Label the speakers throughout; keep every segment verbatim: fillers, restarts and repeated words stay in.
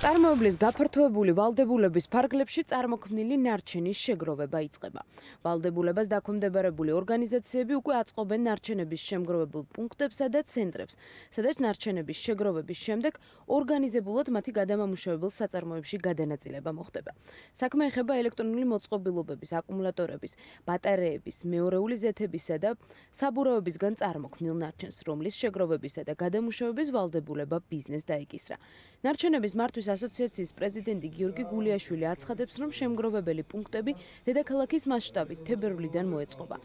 Speaker 1: წარმოებლის გაფართოებული ვალდებულების ფარგლებში წარმოქმნილი ნარჩენის შეგროვება იწყება. ვალდებულებას დაქვემდებარებული ორგანიზაციები უკვე აწყობენ ნარჩენების შემგროვებულ პუნქტებსა და ცენტრებს, სადაც ნარჩენების შეგროვების შემდეგ ორგანიზებულად მათი გადამამუშავებელ საწარმოებში გადანაწილება მოხდება. საქმე ეხება ელექტრონული მოწყობილობების, აკუმულატორების, ბატარეების, მეორეული ზეთებისა და საბურავებისგან წარმოქმნილ ნარჩენს, რომლის შეგროვებისა და გადამუშავების ვალდებულება ბიზნესს დაეკისრა. ნარჩენების მართვის ასოციაციის პრეზიდენტი გიორგი გულიაშვილი აცხადებს, რომ შემგროვებელი პუნქტები დედაქალაქის მასშტაბით თებერვლიდან მოეწყობა,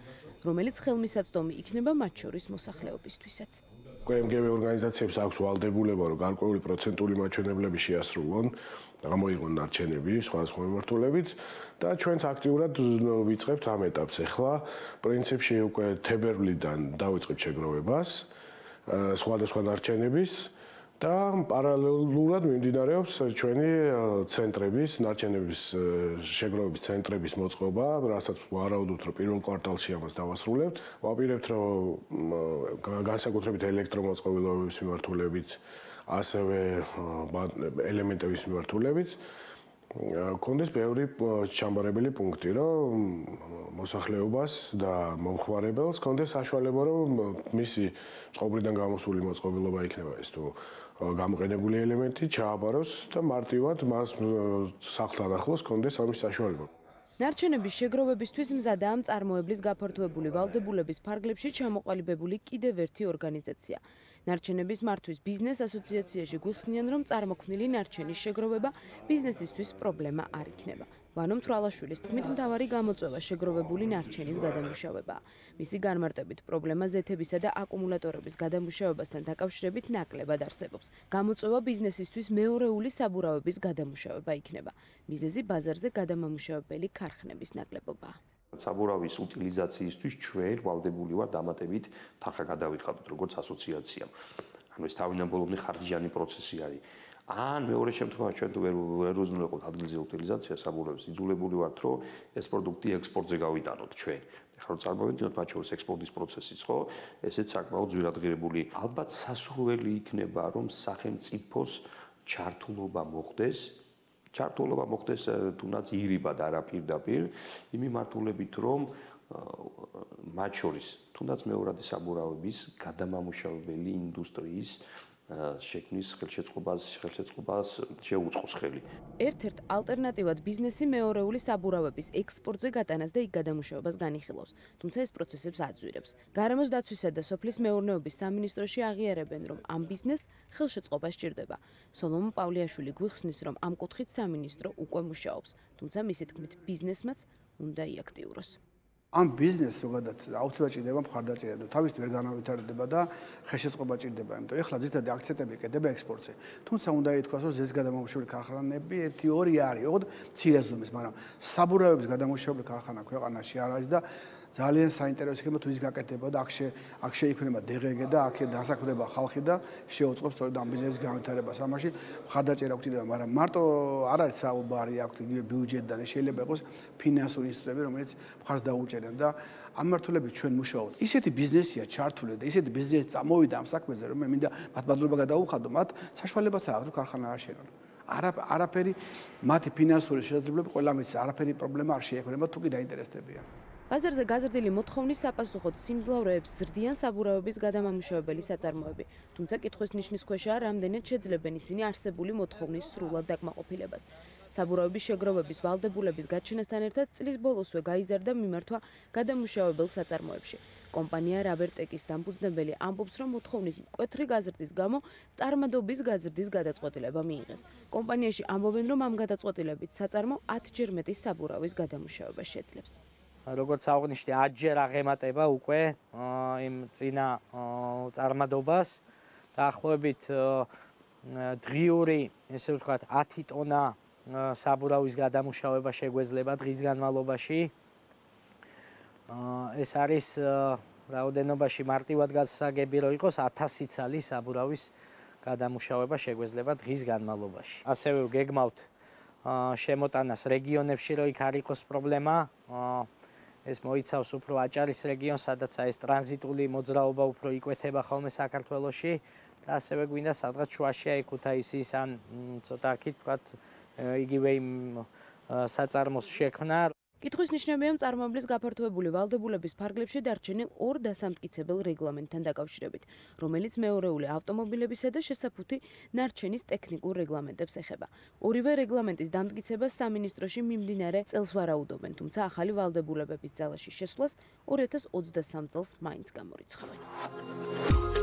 Speaker 1: რომელიც ხელმისაწვდომი იქნება მათ შორის მოსახლეობისთვისაც.
Speaker 2: კემგევ ორგანიზაციებს აქვს ვალდებულება, რომ გარკვეული პროცენტული მაჩვენებლები შეასრულონ, გამოიღონ ნარჩენები სხვადასხვა მიმართულებით და ჩვენც აქტიურად ვიწყებთ ამ ეტაპს. ახლა პრინციპში უკვე თებერვლიდან დავიწყებთ შეგროვებას სხვადასხვა ნარჩენების და პარალელურად მიმდინარეობს ჩვენი ცენტრების, ნარჩენების შეგროვების ცენტრების მოწყობა, რასაც ვარაუდობთ, რომ პირველ კვარტალში ამას დავასრულებთ. ვაპირებთ, რომ განსაკუთრებით ელექტრომოწყობილობების მიმართულებით, ასევე ელემენტების მიმართულებით კონდეს ბევრი ჩამბარებელი პუნქტი, რომ მოსახლეობას და მომხმარებელს კონდეს საშუალება, რომ მისი წყობრიდან გამოსული მოწყობილობა იქნება ეს თუ გამოყენებული ელემენტი ჩააბაროს და მარტივად მას სახლთან ახლოს კონდეს ამის საშუალება.
Speaker 1: ნარჩენების შეგროვებისთვის მზადაა მწარმოებლის გაფართოებული ვალდებულების ფარგლებში ჩამოყალიბებული კიდევ ერთი ორგანიზაცია. ნარჩენების მართვის ბიზნეს ასოციაციაში გვიხსნიან, რომ წარმოქმნილი ნარჩენის შეგროვება ბიზნესისთვის პრობლემა არ იქნება. ვანო მთვრალაშვილის თქმით, მთავარი გამოწვევა შეგროვებული ნარჩენის გადამუშავებაა. მისი განმარტებით, პრობლემა ზეთებისა და აკუმულატორების გადამუშავებასთან დაკავშირებით ნაკლებად არსებობს. გამოწვევა ბიზნესისთვის მეორეული საბურავების გადამუშავება იქნება. მიზეზი ბაზარზე გადამამუშავებელი ქარხნების ნაკლებობაა.
Speaker 3: საბურავის უტილიზაციისთვის ჩვენ ვალდებული ვართ დამატებით თანხა გადავიხადოთ როგორც ასოციაციამ. ანუ ეს თავინაბოლოებრივი ხარჯიანი პროცესი არის. ან მეორე შემთხვევაში ჩვენ თუ ვერ ვერ უზრუნველყოთ ადგილზე უტილიზაცია საბურავის, იძულებული ვართ, რომ ეს პროდუქტი ექსპორტზე გავიტანოთ ჩვენ. ეხლა რომ წარმოვიდგინოთ მათ შორის ექსპორტის პროცესიც, ხო? ესეც საკმაოდ ძვირადღირებული. ალბათ სასურველი იქნება, რომ სახელმწიფოს ჩართულობა მოხდეს. ჩართულობა მოხდეს თუნდაც ირიბად არა პირდაპირ, იმ მიმართულებით, რომ მათ შორის თუნდაც მეორადი საბურავების გადამამუშავებელი ინდუსტრიის შექმნის ხელშეწყობას ხელშეწყობას შეუწყოს ხელი.
Speaker 1: ერთ-ერთ ალტერნატივად ბიზნესი მეორეული საბურავების ექსპორტზე გატანას და იქ გადამუშავებას განიხილავს, თუმცა ეს პროცესებს აძვირებს. გარემოს დაცვისა და სოფლის მეურნეობის სამინისტროში აღიარებენ, რომ ამ ბიზნესს ხელშეწყობა სჭირდება. სოლომონ პავლიაშვილი გვიხსნის, რომ ამ კუთხით სამინისტრო უკვე მუშაობს, თუმცა მისი თქმით ბიზნესმაც უნდა იაქტიუროს.
Speaker 4: ამ ბიზნესს ზოგადად აუცილებლად ჭირდება მხარდაჭერა და თავისით ვერ განავითარდება და ხელშეწყობა ჭირდება, იმიტომ ეხლა ძირითადად აქცენტები ეკეთება ექსპორტზე. თუმცა უნდა ითქვას, რომ ზეს გადამამუშავებელი ქარხანები ერთი ორი არის, ოღონდ მცირე ზომის, მაგრამ საბურავების გადამამუშავებელი ქარხანა ქვეყანაში არ არის და ძალიან საინტერესო იქნება თუ ის გაკეთება და აქ აქ შეიქმნება დეგეგ და აქ დასაქმდება ხალხი და შეუწყობს სწორედ ამ ბიზნესის განვითარებას. ამაში მხარდაჭერა გვჭირდება, მაგრამ მარტო არ არის საუბარი აქ იგივე ბიუჯეტიდან, შეიძლება იყოს ფინანსური ინსტიტუტები, რომელიც მხარს დაუჭერენ და ამ მიმართულებით ჩვენ მუშაობთ. ისეთი ბიზნესია ჩართული და ისეთი ბიზნესი წამოვიდა ამ საქმეზე, რომ მე მინდა მათ მადლობა გადაუხადო, მათ საშუალებაც აქვს ქარხანა აშენონ. არა არაფერი მათი ფინანსური შესაძლებლობები ყველა მის არაფერი პრობლემა არ შეექმნება თუ კი დაინტერესდებიან.
Speaker 1: ბაზარზე გაზრდილი მოთხოვნის საპასუხოდ სიმძლავრეებს ზრდიან საბურავების გადამამუშავებელი საწარმოები, თუმცა კითხვის ნიშნის ქვეშაა, რამდენად შეძლებენ ისინი არსებული მოთხოვნის სრულად დაკმაყოფილებას. საბურავების შეგროვების ვალდებულების გაჩენასთან ერთად წლის ბოლოსვე გაიზარდა მიმართვა გადამუშავებელ საწარმოებში. კომპანია რაბერტეკის დამფუძნებელი ამბობს, რომ მოთხოვნის მკვეთრი გაზრდის გამო წარმადობის გაზრდის გადაწყვეტილება მიიღეს. კომპანიაში ამბობენ, რომ ამ გადაწყვეტილებით საწარმო ათჯერ მეტი საბურავის გადამუშავება შეძლებს.
Speaker 5: როგორც აღნიშნე, ათჯერ აღემატება უკვე იმ წინა წარმადობას. დაახლოებით დღიური, ესე ვთქვათ, ათი ტონა საბურავის გადამუშავება შეგვეძლება დღის განმავლობაში. ეს არის რაოდენობაში მარტივად გასაგები რომ იყოს ათასი ცალი საბურავის გადამუშავება შეგვეძლება დღის განმავლობაში. ასევე გეგმავთ შემოტანას რეგიონებში, რომ იქ არ იყოს პრობლემა. ეს მოიცავს უფრო აჭარის რეგიონს, სადაც ეს ტრანზიტული მოძრაობა უფრო იკვეთება ხოლმე საქართველოში. და ასევე გვინდა სადღაც შუაში აი ქუთაისის ან ცოტა აქეთ ვთქვათ იგივე იმ საწარმოს შექმნა.
Speaker 1: კითხვის ნიშნებია მწარმოებლის გაფართოებული ვალდებულების ფარგლებში დარჩენილ ორ დასამტკიცებელ რეგლამენტთან დაკავშირებით, რომელიც მეორეული ავტომობილებისა და შესაფუთი ნარჩენის ტექნიკურ რეგლამენტებს ეხება. ორივე რეგლამენტის დამტკიცებას სამინისტროში მიმდინარე წელს ვარაუდობენ, თუმცა ახალი ვალდებულებების ძალაში შესვლას ორი ათას ოცდასამ წელს მაინც გამორიცხავენ.